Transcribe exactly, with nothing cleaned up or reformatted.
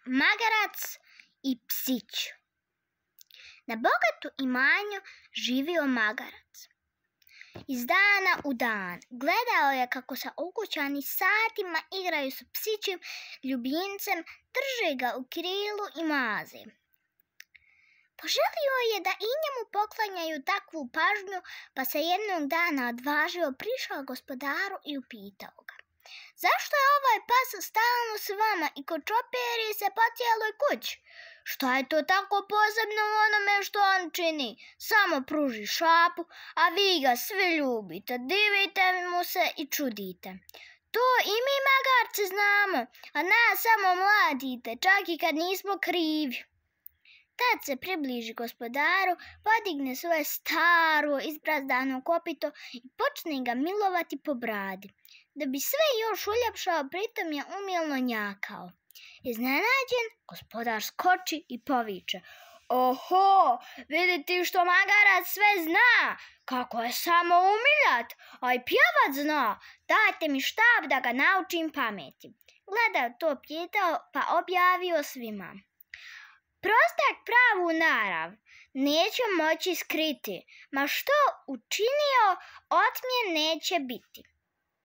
Magarac i psić. Na bogatu imanju živio magarac. Iz dana u dan gledao je kako se ukućani satima igraju s psićim ljubimcem, drže ga u krilu i maze. Poželio je da i njemu poklanjaju takvu pažnju, pa se jednog dana odvažio, prišao gospodaru i upitao ga: zašto je ovaj pas stalno s vama i kočoperi se po cijeloj kući? Šta je to tako posebno u onome što on čini? Samo pruži šapu, a vi ga svi ljubite, divite mu se i čudite. To i mi magarci znamo, a nas samo mladite, čak i kad nismo krivi. Tad se približi gospodaru, podigne svoje staro izbrazdano kopito i počne ga milovati po bradi. Da bi sve još uljepšao, pritom je umilno njakao. Iznenađen, gospodar skoči i poviče: oho, vidi ti što magarac sve zna, kako je samo umiljat, a i pjevat zna, dajte mi štab da ga naučim pameti. Gleda to pitao, pa objavio svima: prostak pravu narav neće moći skriti, ma što učinio, otmjen neće biti.